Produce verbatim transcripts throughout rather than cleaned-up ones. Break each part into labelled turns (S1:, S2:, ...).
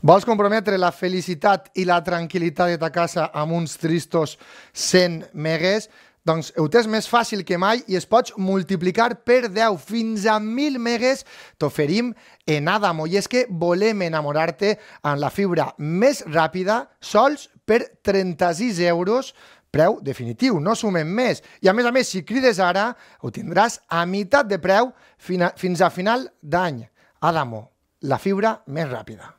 S1: Vols comprometre la felicitat i la tranquil·litat de ta casa amb uns tristos cent megues? Doncs ho tens més fàcil que mai i es pots multiplicar per deu fins a mil megues. T'oferim en Adamo. I és que volem enamorar-te amb la fibra més ràpida, sols per trenta-sis euros, preu definitiu, no sumem més. I a més a més, si crides ara, ho tindràs a meitat de preu fins a final d'any. Adamo, la fibra més ràpida.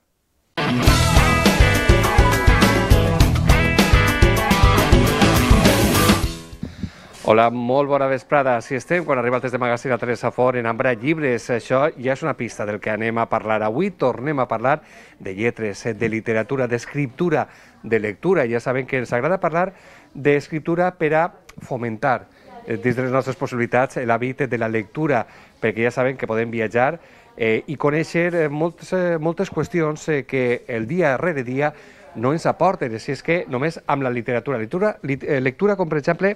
S2: Hola, molt bona vesprada. Si estem, quan arriba el test de magazín a Teresa Fort en Ambra Llibres, això ja és una pista del que anem a parlar. Avui tornem a parlar de lletres, de literatura, d'escriptura, de lectura. Ja sabem que ens agrada parlar d'escriptura per a fomentar dins de les nostres possibilitats l'hàbit de la lectura, perquè ja sabem que podem viatjar eh, i conèixer moltes, moltes qüestions eh, que el dia rere dia no ens aporten, si és que només amb la literatura. Lectura, lectura com per exemple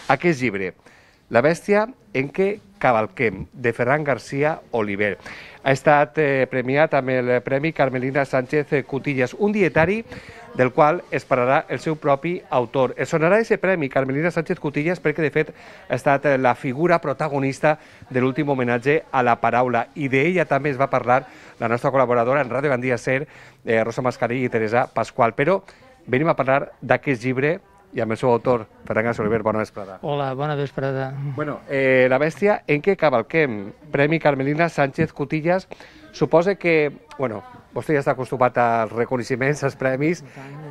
S2: aquest llibre, La bèstia en què cavalquem, de Ferran García Oliver. Ha estat eh, premiat amb el Premi Carmelina Sánchez Cutillas, un dietari del qual es parlarà el seu propi autor. Es sonarà aquest premi Carmelina Sánchez Cutillas perquè, de fet, ha estat la figura protagonista de l'últim homenatge a la paraula, i d'ella també es va parlar la nostra col·laboradora en Ràdio Gandia Ser, eh, Rosa Mascarell i Teresa Pasqual. Però venim a parlar d'aquest llibre i amb el seu autor, Ferran García Oliver. Bona vesprada.
S3: Hola, bona vesprada.
S2: Bueno, eh, La bèstia en què cavalquem, Premi Carmelina Sánchez Cutillas, suposa que, bueno, vostè ja està acostumat als reconeixements, als premis,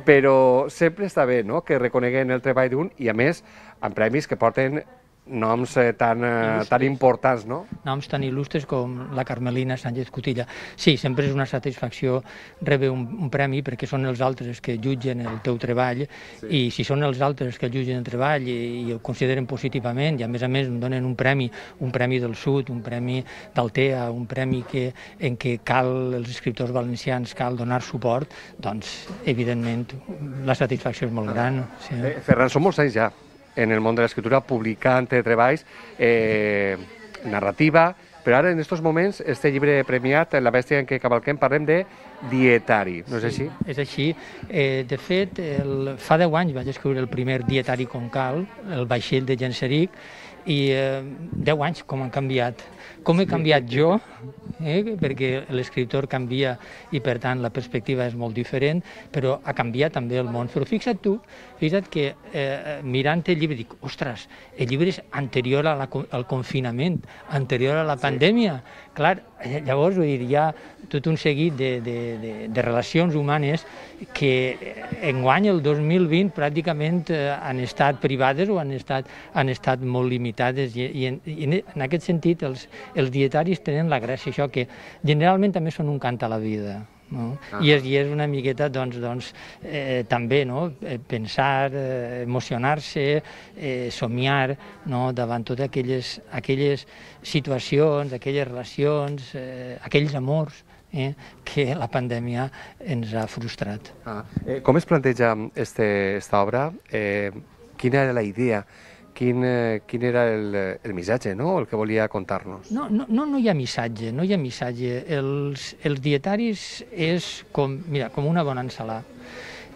S2: però sempre està bé, no?, que reconeguen el treball d'un, i a més, amb premis que porten noms eh, tan, eh, tan importants, no?
S3: Noms tan il·lustres com la Carmelina Sánchez Cutilla. Sí, sempre és una satisfacció rebre un, un premi, perquè són els altres que jutgen el teu treball, sí. I si són els altres que jutgen el treball i, i el consideren positivament, i a més a més em donen un premi, un premi del Sud, un premi d'Altea, un premi que, en què cal, els escriptors valencians, cal donar suport, doncs, evidentment, la satisfacció és molt gran. Sí.
S2: Eh, Ferran, són molts anys ja en el món de l'escriptura, publicant treballs, eh, narrativa, però ara en aquests moments, este llibre premiat, La bèstia en què cavalquem, parlem de dietari, no és així?
S3: Sí, és així. Eh, de fet, el, fa deu anys vaig escriure el primer dietari com cal, el vaixell de Genseric, i eh, deu anys com han canviat. Com he canviat jo, eh, perquè l'escriptor canvia i per tant la perspectiva és molt diferent, però ha canviat també el món. Però fixa't tu, fixa't que eh, mirant el llibre dic, ostres, el llibre és anterior a la, al confinament, anterior a la pandèmia. Clar, llavors vull dir, hi ha tot un seguit de, de, de, de relacions humanes que enguany, el dos mil vint, pràcticament eh, han estat privades o han estat, han estat molt limitades, i, i, en, i en aquest sentit els, els dietaris tenen la gràcia, això que generalment també són un cant a la vida. No? Ah. I, és, I és una miqueta doncs, doncs, eh, també no? pensar, eh, emocionar-se, eh, somiar, no? davant totes aquelles, aquelles situacions, aquelles relacions, eh, aquells amors eh, que la pandèmia ens ha frustrat.
S2: Ah. Eh, com es planteja aquesta obra? Eh, quina era la idea? Quin, eh, quin era el, el missatge, no?, el que volia contar-nos?
S3: No, no, no, no hi ha missatge, no hi ha missatge. Els, els dietaris és com, mira, com una bona ensalada.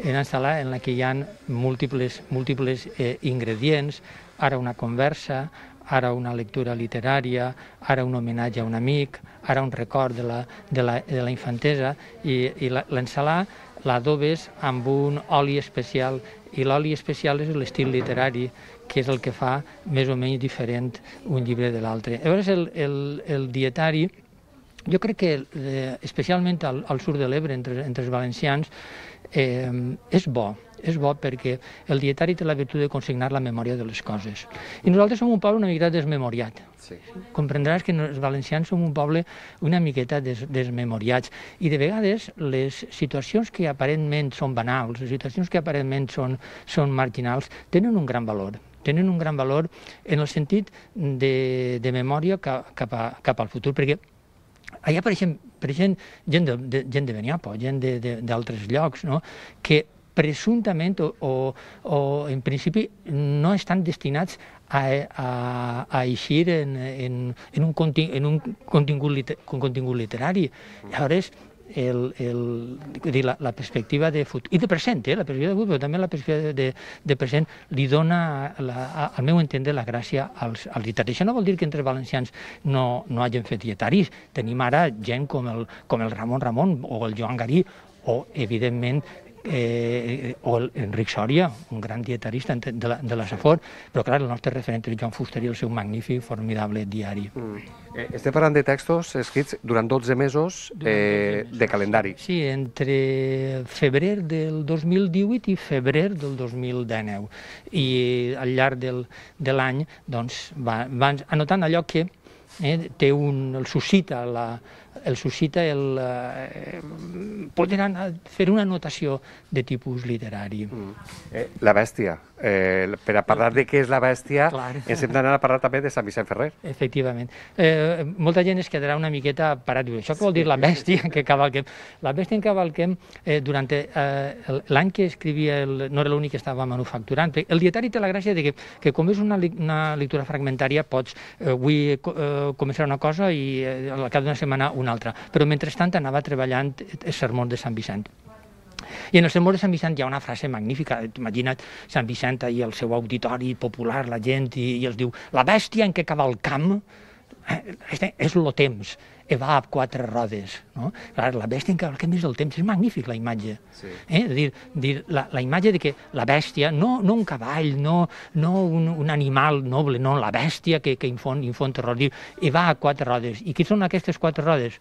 S3: Una ensalada en la que hi ha múltiples, múltiples eh, ingredients, ara una conversa, ara una lectura literària, ara un homenatge a un amic, ara un record de la, de la, de la infantesa, i, i l'ensalada l'adobes amb un oli especial, i l'oli especial és l'estil literari, que és el que fa més o menys diferent un llibre de l'altre. Llavors, el, el, el dietari, jo crec que eh, especialment al, al sud de l'Ebre, entre, entre els valencians, eh, és bo. És bo perquè el dietari té la virtut de consignar la memòria de les coses. I nosaltres som un poble una miqueta desmemoriat. Sí. Comprendràs que els valencians som un poble una miqueta des, desmemoriats, i de vegades les situacions que aparentment són banals, les situacions que aparentment són, són marginals, tenen un gran valor. Tenen un gran valor en el sentit de, de memòria cap, cap, a, cap al futur, perquè allà apareixen, apareixen gent de, de, gent de Beniapo, gent d'altres llocs, no?, que presumptament o, o, o en principi no estan destinats a, a, a eixir en, en, en, un, conti, en un contingut, liter, un contingut literari. Llavors, el, el, dir, la, la perspectiva de futur, i de present, eh, la perspectiva de futur, però també la perspectiva de, de present li dona, la, al meu entendre, la gràcia als, als dietaris. Això no vol dir que entre valencians no, no hagin fet dietaris. Tenim ara gent com el, com el Ramon Ramon o el Joan Garí, o, evidentment, Eh, o l'Enric Sòria, un gran dietarista de la, de la Safor, però clar, el nostre referent és Joan Fuster i el seu magnífic, formidable diari.
S2: Mm. Eh, estem parlant de textos escrits durant dotze mesos, eh, dotze mesos de calendari.
S3: Sí, entre febrer del dos mil divuit i febrer del dos mil dinou. I al llarg del, de l'any doncs, va, va anotant allò que eh, té un, el suscita la el suscita el eh, poder anar, fer una anotació de tipus literari.
S2: Mm. Eh, la bèstia. Eh, per a parlar de què és la bèstia, Clar. ens hem d'anar a parlar també de Sant Vicent Ferrer.
S3: Efectivament. Eh, molta gent es quedarà una miqueta parat. Això què vol dir la bèstia que cavalquem? La bèstia en cavalquem, eh, durant eh, l'any que escrivia, el, no era l'únic que estava manufacturant. El dietari té la gràcia de que, que com és una, una lectura fragmentària, pots, eh, avui eh, començar una cosa i eh, al cap d'una setmana una altra. Però mentrestant anava treballant els sermons de Sant Vicent. I en el sermó de Sant Vicent hi ha una frase magnífica. Imagina't Sant Vicent i el seu auditori popular, la gent, i, i els diu: la bèstia en què cavalcam eh, és lo temps, e va a quatre rodes. No? Clar, la bèstia en què cavalcam és el temps. És magnífic, la imatge. Sí. Eh? Dir, dir, la, la imatge de que la bèstia, no, no un cavall, no, no un, un animal noble, no, la bèstia que, que infon, infon terror, diu, i va a quatre rodes. I què són aquestes quatre rodes?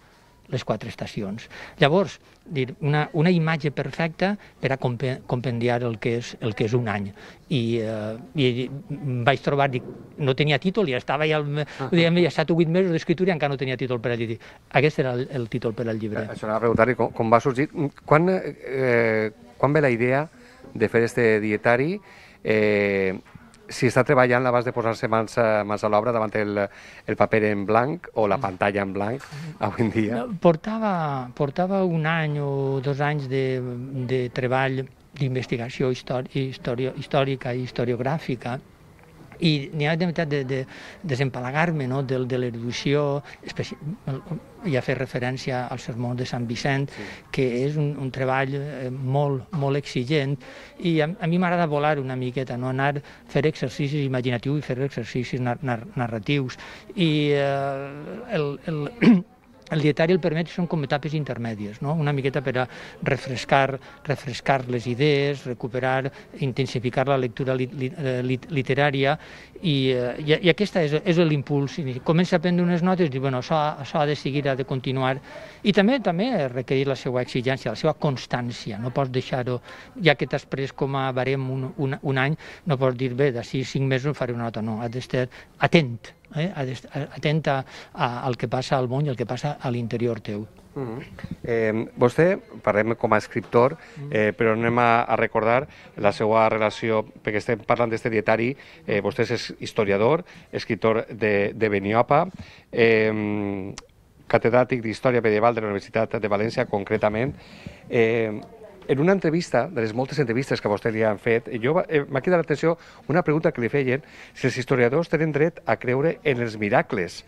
S3: Les quatre estacions. Llavors, dir, una, una imatge perfecta per a compendiar el que és, el que és un any. I, eh, i vaig trobar, dic, no tenia títol, ja estava ja, uh -huh. ja set o vuit mesos d'escriptura i encara no tenia títol per al llibre. Aquest era el, el títol per al llibre.
S2: Això anava a preguntar-li com, com va sorgir. Quan, eh, quan ve la idea de fer este dietari? Eh, si està treballant, l'abans de posar-se mans, mans a l'obra davant el, el paper en blanc o la pantalla en blanc, avui en dia?
S3: Portava, portava un any o dos anys de, de treball d'investigació història, històrica i historiogràfica, i n'hi ha de veritat de, de desempalagar-me, no? de, de l'erudició, ja fer referència al sermó de Sant Vicent, sí. que és un, un treball eh, molt, molt exigent, i a, a mi m'agrada volar una miqueta, no? Anar a fer exercicis imaginatius i fer exercicis nar nar narratius. I eh, el, el, el dietari el permet, són com etapes intermèdies, no? Una miqueta per a refrescar, refrescar les idees, recuperar, intensificar la lectura lit lit literària, i, i, i aquesta és, és l'impuls. Comença a prendre unes notes i diu, bueno, això, això ha de seguir, ha de continuar, i també també requerir la seva exigència, la seva constància. No pots deixar-ho, ja que t'has pres com a barem un, un, un any, no pots dir, bé, d'ací cinc mesos faré una nota, no, has d'estar atent. Eh, atenta a, al que passa al món i al que passa a l'interior teu.
S2: Mm -hmm. eh, vostè, parlem com a escriptor, eh, però anem a, a recordar la seva relació, perquè estem parlant d'aquest dietari, eh, vostè és historiador, escriptor de, de Beniopa, eh, catedràtic d'Història Medieval de la Universitat de València, concretament. Eh, En una entrevista, de les moltes entrevistes que a vostè li han fet, jo eh, m'ha quedat l'atenció una pregunta que li feien, si els historiadors tenen dret a creure en els miracles.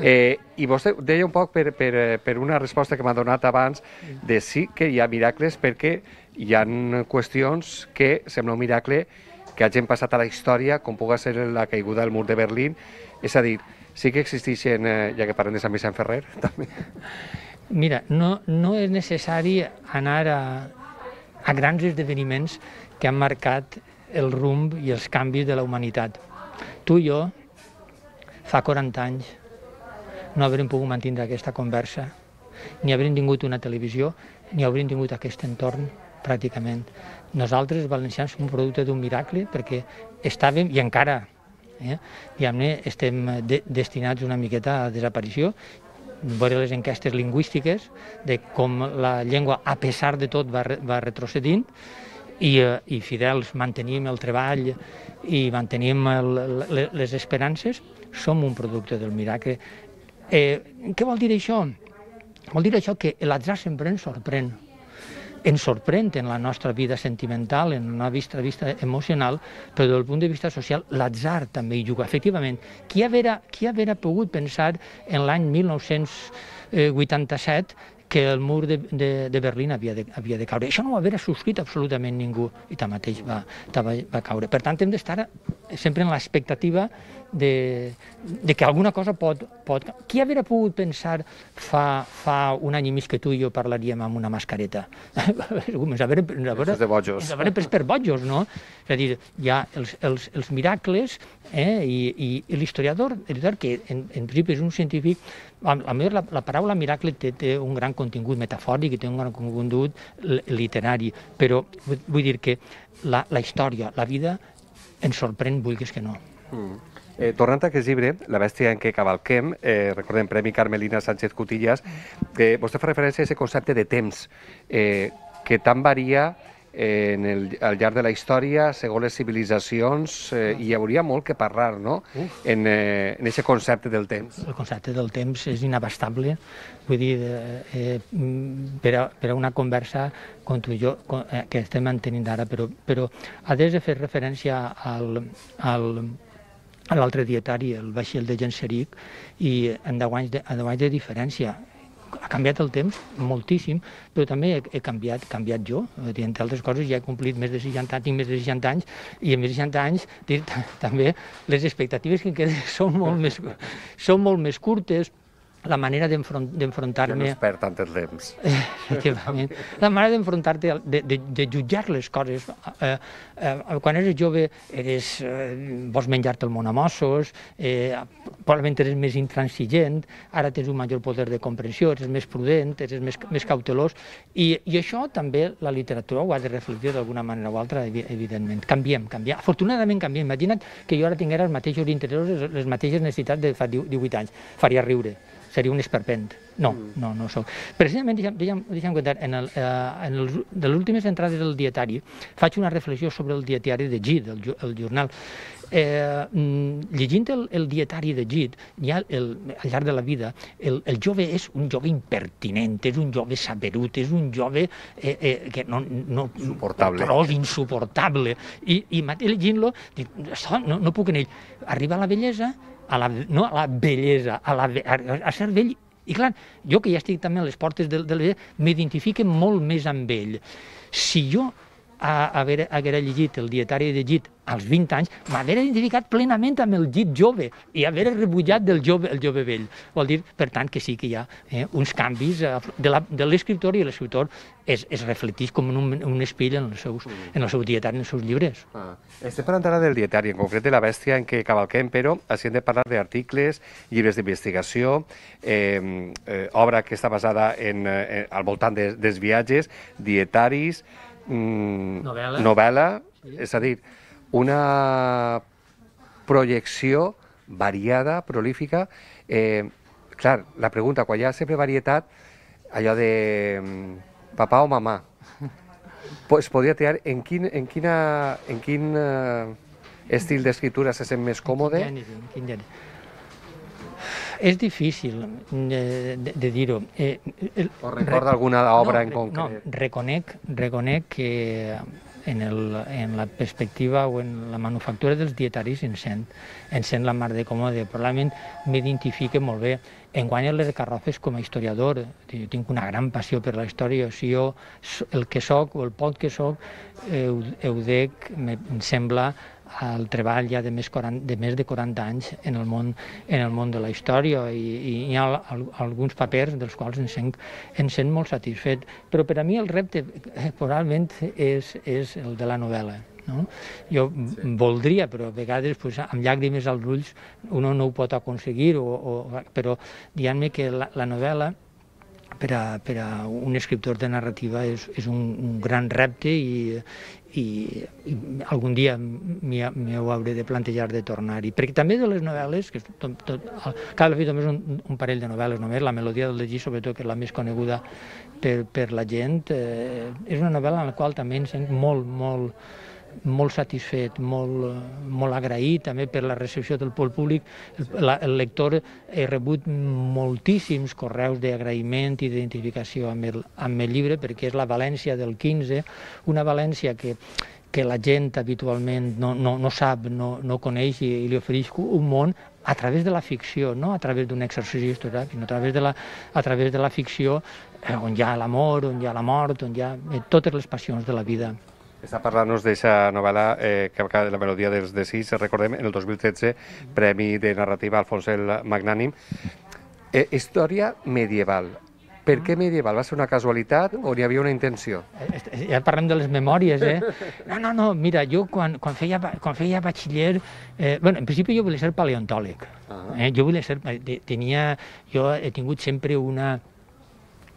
S2: Eh, I vostè deia un poc per, per, per una resposta que m'ha donat abans, de sí que hi ha miracles perquè hi ha qüestions que sembla un miracle que hagin passat a la història, com pugui ser la caiguda del mur de Berlín. És a dir, sí que existeixen, eh, ja que parlem de Sant Vicent Ferrer, també.
S3: Mira, no, no és necessari anar a a grans esdeveniments que han marcat el rumb i els canvis de la humanitat. Tu i jo, fa quaranta anys, no haurem pogut mantenir aquesta conversa, ni haurem tingut una televisió, ni haurem tingut aquest entorn, pràcticament. Nosaltres, els valencians, som un producte d'un miracle, perquè estàvem, i encara, eh, diguem-ne, estem de, destinats una miqueta a desaparició, veure les enquestes lingüístiques de com la llengua, a pesar de tot, va, va retrocedint, i, i fidels mantenim el treball i mantenim el, les esperances. Som un producte del miracle. Eh, què vol dir això? Vol dir això que l'atzar sempre ens sorprèn. Ens sorprèn en la nostra vida sentimental, en la vista, vista emocional, però des del punt de vista social l'atzar també hi juga. Efectivament, qui haguera, qui haguera pogut pensar en l'any mil nou-cents vuitanta-set que el mur de, de, de Berlín havia de, havia de caure. Això no ho havia subscrit absolutament ningú i tanmateix va, va, va caure. Per tant, hem d'estar sempre en l'expectativa de, de que alguna cosa pot... pot... Qui hauria pogut pensar fa, fa un any i mig que tu i jo parlaríem amb una mascareta? Ens hauria,
S2: Això és de bojos.
S3: ens hauria pres per bojos, no? És a dir, hi ha els, els, els miracles eh, i, i, i l'historiador, que en, en principi és un científic, a, a més la, la paraula miracle té, té un gran contingut metafòric i té un gran contingut literari, però vull, vull dir que la, la història, la vida, ens sorprèn, vulguis que no.
S2: Mm. Eh, tornant a aquest llibre, La bèstia en què cavalquem, eh, recordem, Premi Carmelina Sánchez Cutillas, que vostè fa referència a aquest concepte de temps, eh, que tant varia eh, en el, al llarg de la història, segons les civilitzacions, eh, i hi hauria molt que parlar, no?, en eh, aquest concepte del temps.
S3: El concepte del temps és inabastable, vull dir, eh, per, a, per a una conversa com tu i jo, eh, que estem mantenint ara, però, però ha de fer referència al... al a l'altre dietari, el vaixell de Genseric, i en deu anys de, deu anys de diferència. Ha canviat el temps moltíssim, però també he, he canviat, canviat jo. Entre altres coses, ja he complit més de seixanta anys, tinc més de seixanta anys, i en més de seixanta anys dir, també les expectatives que queden són molt més, són molt més curtes. La manera d'enfrontar-me...
S2: Ja no es perd tant el temps.
S3: Efectivament. La manera d'enfrontar-te, de, de, de jutjar les coses. Eh, eh, quan eres jove, eres, eh, vols menjar-te el món a mossos, eh, probablement eres més intransigent, ara tens un major poder de comprensió, eres més prudent, eres més, més cautelós, i, i això també la literatura ho ha de reflectir d'alguna manera o altra, evidentment. Canviem, canviem. Afortunadament canviem. Imagina't que jo ara tinguera els mateixos interessos, les mateixes necessitats de fa divuit anys. Faria riure. Seria un esperpent. No, no, no soc. Precisament, deixa'm, deixa'm, deixa'm contar, en, el, eh, en el, de les últimes entrades del dietari faig una reflexió sobre el dietari de Gide, el, el jornal. Eh, llegint el, el dietari de Gide, ja el, al llarg de la vida, el, el jove és un jove impertinent, és un jove saberut, és un jove eh, eh, que no... no
S2: insuportable.
S3: Gros, insuportable. I, i llegint-lo, dic, no, no puc en ell. Arriba a la bellesa, a la, no a la bellesa, a, la, a, a ser vell. I clar, jo que ja estic també a les portes de, de la m'identifique molt més amb ell. Si jo haguera, haguera llegit el dietari de Gide als vint anys, m'haguera identificat plenament amb el Gide jove i haver rebutjat del jove, el jove vell. Vol dir, per tant, que sí que hi ha eh, uns canvis eh, de l'escriptor, i l'escriptor es, es reflecteix com un, un espill en els seus, en el seu dietari, en els seus llibres.
S2: Ah. Estem parlant ara del dietari, en concret de La bèstia en què cavalquem, però així hem de parlar d'articles, llibres d'investigació, eh, eh, obra que està basada en, eh, al voltant de, dels viatges, dietaris, mm,
S3: novel·la,
S2: novel·la sí. És a dir, una projecció variada, prolífica. Eh, clar, la pregunta, quan hi ha sempre varietat, allò de papà o mamà, es podria triar en quin, en quina, en quin uh, estil d'escriptura se sent més còmode?
S3: En quin gènere? És difícil de, de, de dir-ho. Eh,
S2: o recorda alguna obra no, en concret?
S3: No, reconec, reconec que en, el, en la perspectiva o en la manufactura dels dietaris em sent, em sent la mar de còmode. Probablement m'identifique molt bé. Enguany a les Garrofes com a historiador, jo tinc una gran passió per la història. O sigui, jo el que soc o el poc que soc, ho, ho dec, em sembla, al treball ja de més, quaranta, de més de quaranta anys en el món, en el món de la història, i, i hi ha alguns papers dels quals em sent, em sent molt satisfet. Però per a mi el repte eh, probablement és, és el de la novel·la. No? Jo sí. voldria, però a vegades pues, amb llàgrimes als ulls uno no ho pot aconseguir, o, o, però diguem-me que la, la novel·la per a, per a un escriptor de narrativa és, és un, un gran repte, i, i, i algun dia m'hi hauré de plantejar de tornar-hi. Perquè també de les novel·les, que tot, tot, cada fi només un, un parell de novel·les només, La melodia del llegir, sobretot, que és la més coneguda per, per la gent, eh, és una novel·la en la qual també em sent molt, molt, molt satisfet, molt, molt agraït també per la recepció del públic. El, el lector ha rebut moltíssims correus d'agraïment i d'identificació amb, el, amb el llibre, perquè és la València del quinze, una València que, que la gent habitualment no, no, no sap, no, no coneix, i, i li ofereix un món a través de la ficció, no a través d'un exercici històric, sinó a través de la, a través de la ficció, eh, on hi ha l'amor, on hi ha la mort, on hi ha eh, totes les passions de la vida.
S2: Està parlant-nos d'aquesta novel·la eh, que acaba de la melodia dels de sis, recordem, en el dos mil tretze, Premi de Narrativa Alfons el Magnànim. Eh, història medieval. Per què medieval? Va ser una casualitat o n'hi havia una intenció?
S3: Ja parlem de les memòries, eh? No, no, no, mira, jo quan, quan, feia, quan feia batxiller... Eh, bueno, en principi jo volia ser paleontòleg. Eh? Jo volia ser... Tenia, jo he tingut sempre una...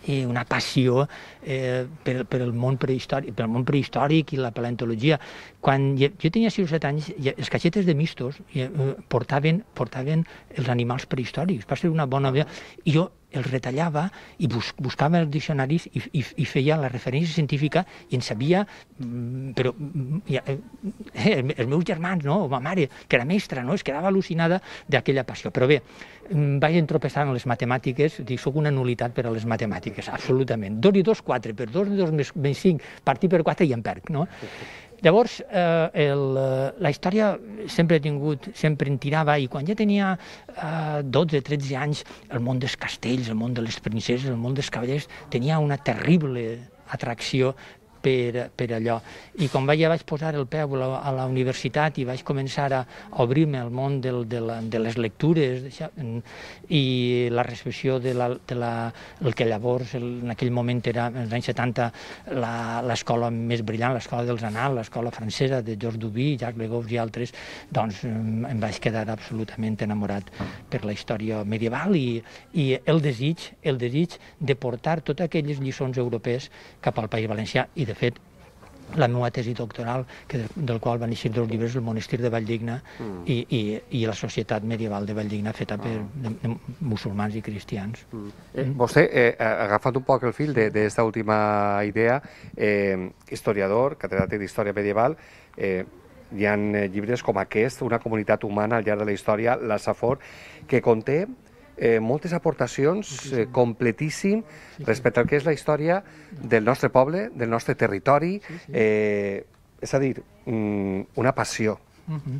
S3: i una passió eh, per, per, el món prehistòric, per el món prehistòric i la paleontologia. Quan jo, jo tenia sis o set anys, els caixetes de mistos eh, portaven, portaven els animals prehistòrics. Va ser una bona idea. I jo els retallava i bus, buscava els diccionaris i, i, i feia la referència científica i en sabia, però ja, eh, els meus germans, no? O ma mare, que era mestra, no? Es quedava al·lucinada d'aquella passió. Però bé, vaig entropessar en les matemàtiques, dic, soc una nul·litat per a les matemàtiques, absolutament. Dos i dos, quatre, per dos i dos més, més cinc, partir per quatre i em perc, no? Llavors, eh, el, la història sempre he tingut, sempre en tirava, i quan ja tenia eh, dotze o tretze anys, el món dels castells, el món de les princeses, el món dels cavallers, tenia una terrible atracció per, per allò. I quan vaig, ja vaig posar el peu a la, a la universitat i vaig començar a obrir-me al món del, de, la, de les lectures això, i la recepció de, la, de la, el que llavors, el, en aquell moment era, als anys setanta, l'escola més brillant, l'escola dels Annals, l'escola francesa de Georges Duby, Jacques Le Goff i altres, doncs em vaig quedar absolutament enamorat per la història medieval i, i el desig, el desig de portar totes aquelles lliçons europees cap al País Valencià. I de fet, la meva tesi doctoral, que del, del qual van néixer dos llibres, el Monestir de Valldigna mm. i, i, i la societat medieval de Valldigna, feta per de, de musulmans i cristians. Mm.
S2: Eh, vostè, eh, agafant un poc el fil d'aquesta última idea, eh, historiador, catedràtic d'història medieval, eh, hi ha llibres com aquest, Una comunitat humana al llarg de la història, la Safor, que conté Eh, moltes aportacions, eh, completíssim respecte al que és la història del nostre poble, del nostre territori, eh, és a dir, una passió.
S3: Uh -huh.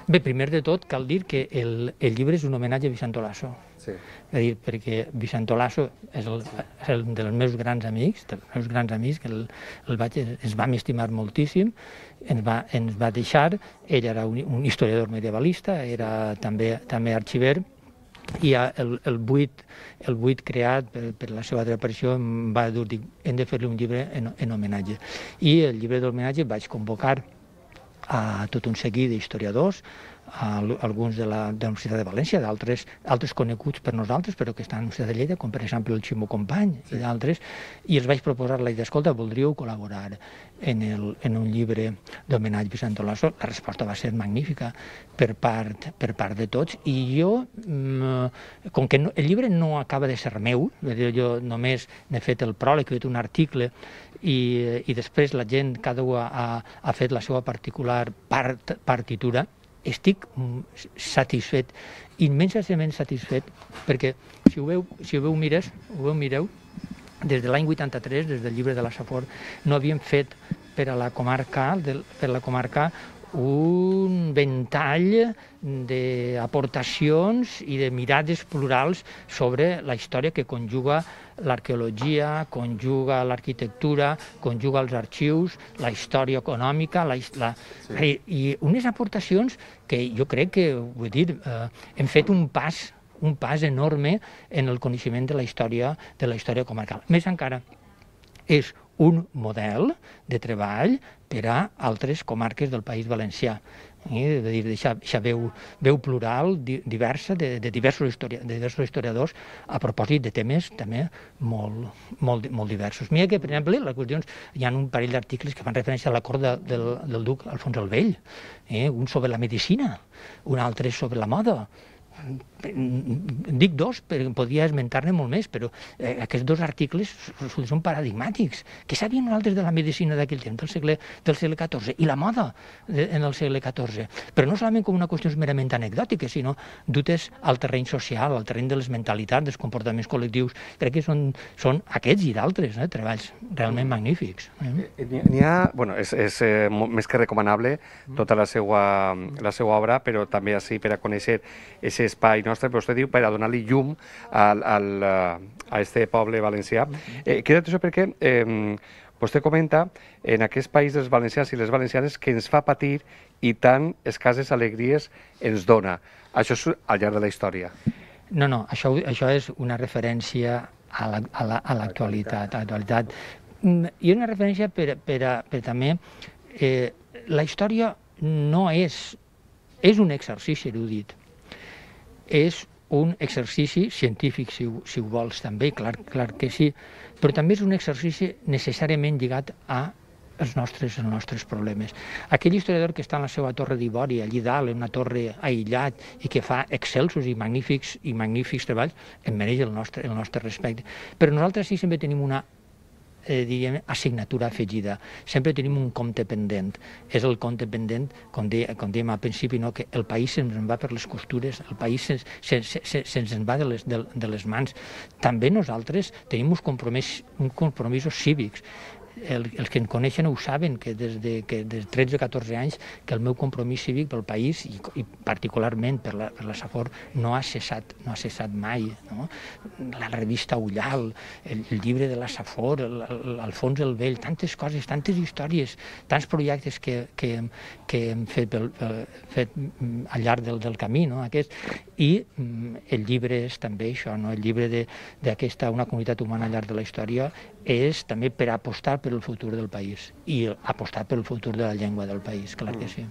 S3: Bé, primer de tot cal dir que el, el llibre és un homenatge a Vicent Olaso. Sí. És a dir, perquè Vicent Olaso és el, és el dels meus grans amics, dels meus grans amics, que el, el vaig, ens vam estimar moltíssim, ens va, ens va deixar, ell era un, un historiador medievalista, era també, també arxiver, i el, el, buit, el buit creat per, per la seva desaparició em va dir, hem de fer-li un llibre en, en homenatge. I el llibre d'homenatge vaig convocar a tot un seguit d'historiadors, alguns de la, de la Universitat de València, d'altres altres coneguts per nosaltres, però que estan a la Universitat de Lleida, com per exemple el Ximo Company sí. i d'altres, i els vaig proposar la idea, escolta, voldríeu col·laborar en, el, en un llibre d'homenatge a Vicent Olaso? La resposta va ser magnífica per part, per part de tots, i jo, com que no, el llibre no acaba de ser meu, jo només n'he fet el pròleg, he fet un article, i, i després la gent, cada un ha, ha fet la seva particular part, partitura, estic satisfet, immensament satisfet, perquè si ho veu, si ho veu mires, ho veu mireu, des de l'any vuitanta-tres, des del llibre de la Safor, no havíem fet per a la comarca, per a la comarca un ventall d'aportacions i de mirades plurals sobre la història que conjuga l'arqueologia, conjuga l'arquitectura, conjuga els arxius, la història econòmica, la, la, sí. i unes aportacions que jo crec que, vull dir, eh, hem fet un pas, un pas enorme en el coneixement de la història, de la història comarcal. Més encara, és un model de treball per a altres comarques del País Valencià. Eh? De dir, deixar veu, veu plural, diversa, de, de, diversos historia, de diversos historiadors, a propòsit de temes també molt, molt, molt diversos. Mira que, per exemple, les qüestions, hi ha un parell d'articles que fan referència a la cort de, del, del duc Alfons el Vell, eh? Un sobre la medicina, un altre sobre la moda. dic dos, perquè podria esmentar-ne molt més, però eh, aquests dos articles són paradigmàtics. Què sabien nosaltres de la medicina d'aquell temps, del segle, del segle catorze, i la moda de, en el segle catorze? Però no solament com una qüestió merament anecdòtica, sinó dutes al terreny social, al terreny de les mentalitats, dels comportaments col·lectius. Crec que són, són aquests i d'altres eh, treballs realment magnífics.
S2: Eh? N'hi ha, bueno, és, és eh, més que recomanable tota la seva, la seva obra, però també així per a conèixer aquest espai nostre, però vostè diu per a donar-li llum al, al, a este poble valencià. Eh, queda això perquè eh, vostè comenta en aquest país dels valencians i les valencianes que ens fa patir i tant escasses alegries ens dona. Això és al llarg de la història.
S3: No, no, això, això és una referència a l'actualitat. La, a la, a I una referència per, per, a, per també... Eh, la història no és... És un exercici erudit. És un exercici científic, si ho, si ho vols, també, clar, clar que sí, però també és un exercici necessàriament lligat a els nostres, els nostres problemes. Aquell historiador que està en la seva torre d'ivori, allí dalt, en una torre aïllat, i que fa excelsos i magnífics i magnífics treballs, em mereix el nostre, el nostre respecte. Però nosaltres sí sempre tenim una Eh, diríem, assignatura afegida. Sempre tenim un compte pendent. És el compte pendent, com, de, com dèiem al principi, no? Que el país se'ns en va per les costures, el país se'ns se, se, se, se en va de les, de, de les mans. També nosaltres tenim uns compromisos, uns compromisos cívics. El, els que em coneixen ho saben, que des de que des de tretze o catorze anys que el meu compromís cívic pel país i, i particularment per la, per la Safor no ha cessat, no ha cessat mai. No? La revista Ullal, el, el llibre de la Safor, l'Alfons el Vell, tantes coses, tantes històries, tants projectes que, que, que hem fet, pel, pel, fet al llarg del, del camí, no? Aquest. I el llibre és també això, no? El llibre d'aquesta Una comunitat humana al llarg de la història és també per apostar per el futur del país i apostar per el futur de la llengua del país, clar que sí.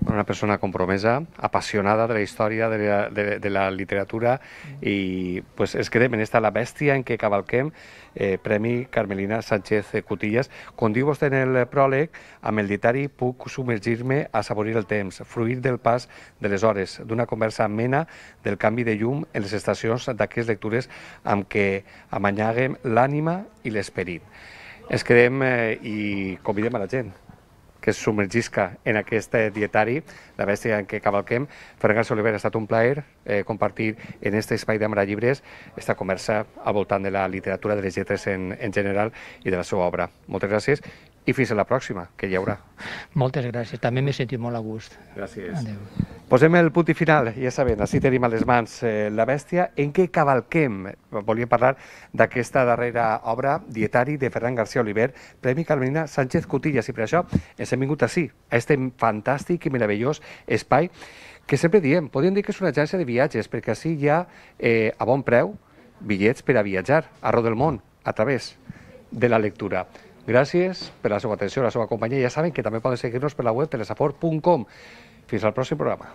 S2: Una persona compromesa, apassionada de la història, de la, de, de la literatura, i pues, es quedem en esta La bèstia en què cavalquem, eh, Premi Carmelina Sánchez Cutillas. Com diu vostè en el pròleg, amb el dietari puc submergir-me a saborir el temps, fruir del pas de les hores, d'una conversa amena del canvi de llum en les estacions d'aquestes lectures amb què amanyaguem l'ànima i l'esperit. Ens quedem eh, i convidem a la gent que es submergisca en aquest dietari, La bèstia en què cavalquem. Ferran García Oliver, ha estat un plaer eh, compartir en aquest espai d'Ambra Llibres esta conversa al voltant de la literatura, de les lletres en, en general i de la seva obra. Moltes gràcies i fins a la pròxima, que hi haurà.
S3: Moltes gràcies, també m'he sentit molt a gust.
S2: Gràcies.
S3: Adéu.
S2: Posem el punt i final, ja sabem, així tenim a les mans eh, La bèstia en què cavalquem. Volíem parlar d'aquesta darrera obra, Dietari, de Ferran García Oliver, Premi Carmelina Sánchez Cutillas, i per això ens hem vingut així, a este fantàstic i meravellós espai que sempre diem, podríem dir que és una agència de viatges, perquè així hi ha eh, a bon preu bitllets per a viatjar arreu del món a través de la lectura. Gràcies per la seva atenció, la seva companyia. Ja saben que també poden seguir-nos per la web telesafor punt com. Fins al pròxim programa.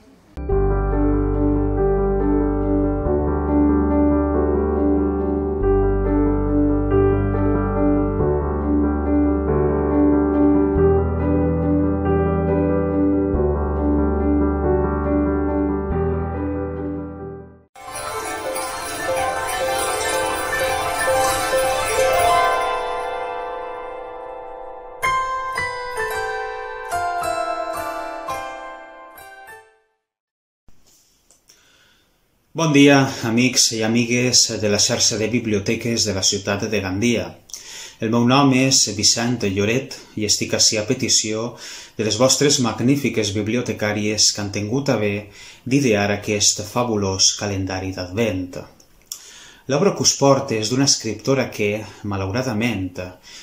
S4: Bon dia, amics i amigues de la xarxa de biblioteques de la ciutat de Gandia. El meu nom és Vicent Lloret i estic ací a petició de les vostres magnífiques bibliotecàries que han tingut a bé d'idear aquest fabulós calendari d'Advent. L'obra que us porta és d'una escriptora que, malauradament,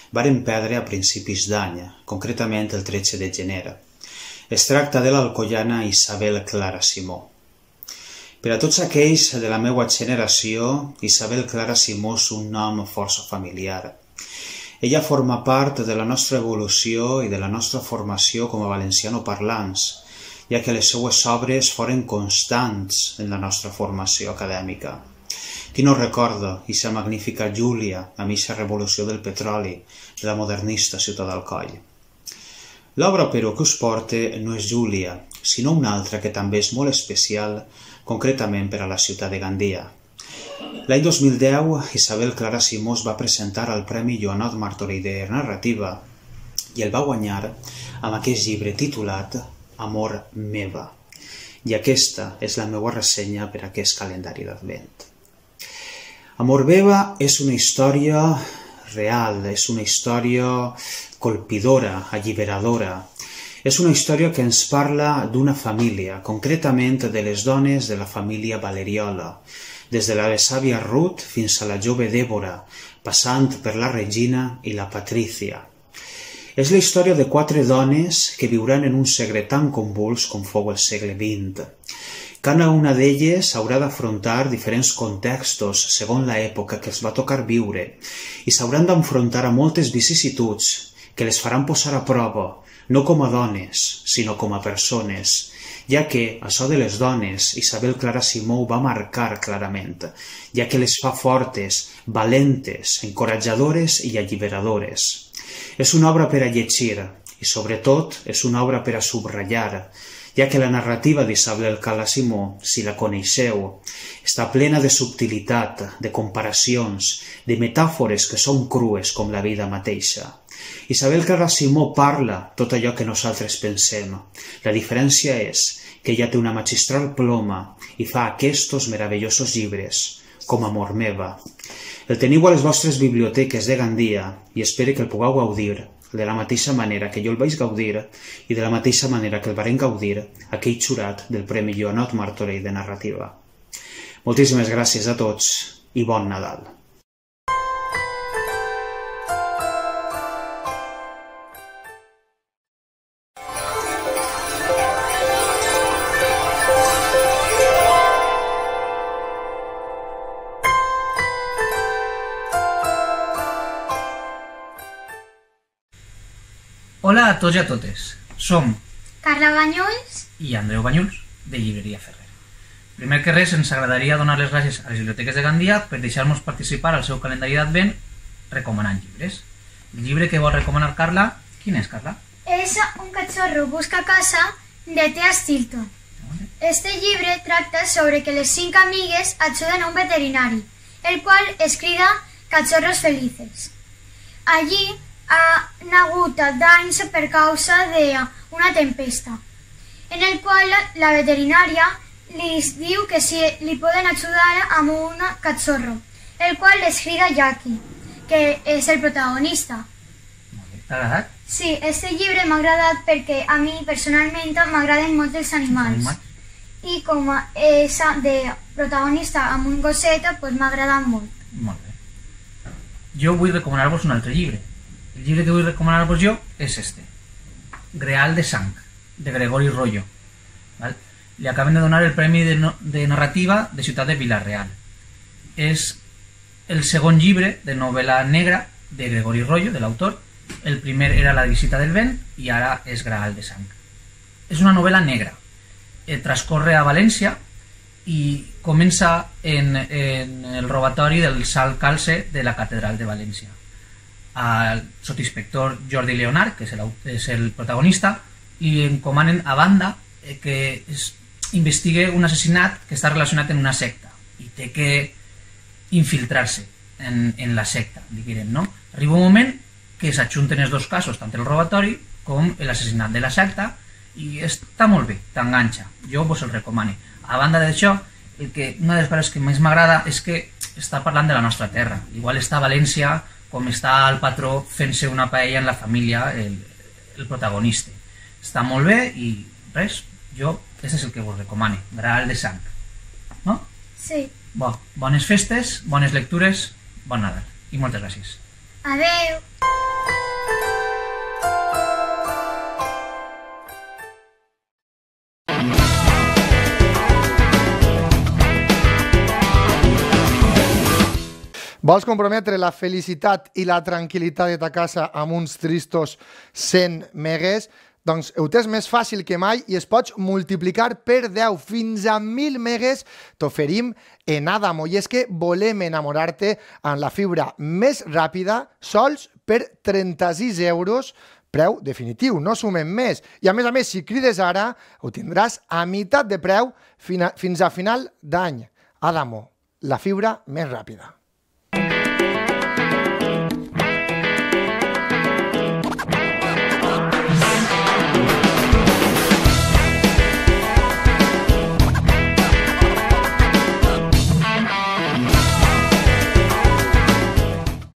S4: varen perdre a principis d'any, concretament el tretze de gener. Es tracta de l'alcoiana Isabel Clara Simó. Per a tots aquells de la meva generació, Isabel Clara Simó és un nom força familiar. Ella forma part de la nostra evolució i de la nostra formació com a valencianoparlants, ja que les seues obres foren constants en la nostra formació acadèmica. Qui no recorda aquesta magnífica Júlia, a mitja revolució del petroli, de la modernista ciutat d'Alcoi. L'obra, però, que us porta no és Júlia, sinó una altra que també és molt especial concretament per a la ciutat de Gandia. L'any dos mil deu, Isabel Clara Simó es va presentar al Premi Joanot Martorell de Narrativa i el va guanyar amb aquest llibre titulat Amor meva. I aquesta és la meva ressenya per a aquest calendari d'Advent. Amor meva és una història real, és una història colpidora, alliberadora. És una història que ens parla d'una família, concretament de les dones de la família Valeriola, des de la sàvia Ruth fins a la jove Dèbora, passant per la Regina i la Patrícia. És la història de quatre dones que viuran en un segle tan convuls com fou el segle vint. Cada una d'elles haurà d'afrontar diferents contextos segons l'època que els va tocar viure i s'hauran d'enfrontar a moltes vicissituds que les faran posar a prova, no com a dones, sinó com a persones, ja que això de les dones Isabel Clara Simó ho va marcar clarament, ja que les fa fortes, valentes, encoratjadores i alliberadores. És una obra per a llegir i, sobretot, és una obra per a subratllar, ja que la narrativa d'Isabel Clara Simó, si la coneixeu, està plena de subtilitat, de comparacions, de metàfores que són crues com la vida mateixa. Isabel Clara Simó parla tot allò que nosaltres pensem. La diferència és que ella té una magistral ploma i fa aquests meravellosos llibres, com Amor meva. El teniu a les vostres biblioteques de Gandia i espero que el pugueu gaudir de la mateixa manera que jo el vaig gaudir i de la mateixa manera que el varen gaudir aquell jurat del Premi Joanot Martorell de Narrativa. Moltíssimes gràcies a tots i bon Nadal.
S5: Hola a tots i a totes. Som
S6: Carla Banyuls
S5: i Andreu Banyuls, de Llibreria Ferrer. Primer que res, ens agradaria donar les gràcies a les biblioteques de Gandia per deixar-nos participar al seu calendari d'Advent recomanant llibres. El llibre que vol recomanar Carla, quin és, Carla?
S6: és Un cachorro busca casa, de Thea Stilton. Este llibre tracta sobre que les cinc amigues ajuden a un veterinari, el qual es crida Cachorros Felices. Allí ha hagut danys per causa d'una tempesta, en el qual la veterinària li diu que si li poden ajudar amb un cachorro, el qual es crida Jackie, que és el protagonista.
S5: T'ha agradat?
S6: Sí, este llibre m'ha agradat perquè a mi personalment m'agraden molt els animals. I com és de protagonista amb un gosset, doncs m'ha agradat molt.
S5: Molt bé. Jo vull recomanar-vos un altre llibre. El llibre que vull recomanar-vos jo és este. Greal de sang, de Gregori Royo. ¿Val? Li acaben de donar el Premi de, no de Narrativa de Ciutat de Vila-real. És el segon llibre de novel·la negra de Gregori Royo, de l'autor. El primer era La visita del vent i ara és Greal de sang. És una novel·la negra. Eh, transcorre a València i comença en, en el robatori del salt calce de la catedral de València. Al sotsinspector Jordi Leonard, que és el, és el protagonista, li encomanen a banda eh, que es investigue un assassinat que està relacionat amb una secta i té que infiltrar-se en, en la secta, diguem, no? Arriba un moment que s'adjunten els dos casos, tant el robatori com l'assassinat de la secta, i està molt bé, t'enganxa, jo vos el recomano. A banda d'això, el que, una de les coses que més m'agrada és que està parlant de la nostra terra. Igual està a València, com està el patró fent-se una paella en la família, el, el protagonista. Està molt bé i res, jo, aquest és el que vos recomano, Greal de sang. No?
S6: Sí.
S5: Bo, bones festes, bones lectures, bon Nadal i moltes gràcies.
S6: Adeu.
S1: Vols comprometre la felicitat i la tranquil·litat de ta casa amb uns tristos cent megues? Doncs ho tens més fàcil que mai i es pots multiplicar per deu fins a mil megues. T'oferim en Adamo i és que volem enamorar-te amb la fibra més ràpida sols per trenta-sis euros preu definitiu, no sumem més. I a més a més, si crides ara, ho tindràs a meitat de preu fins a final d'any. Adamo, la fibra més ràpida.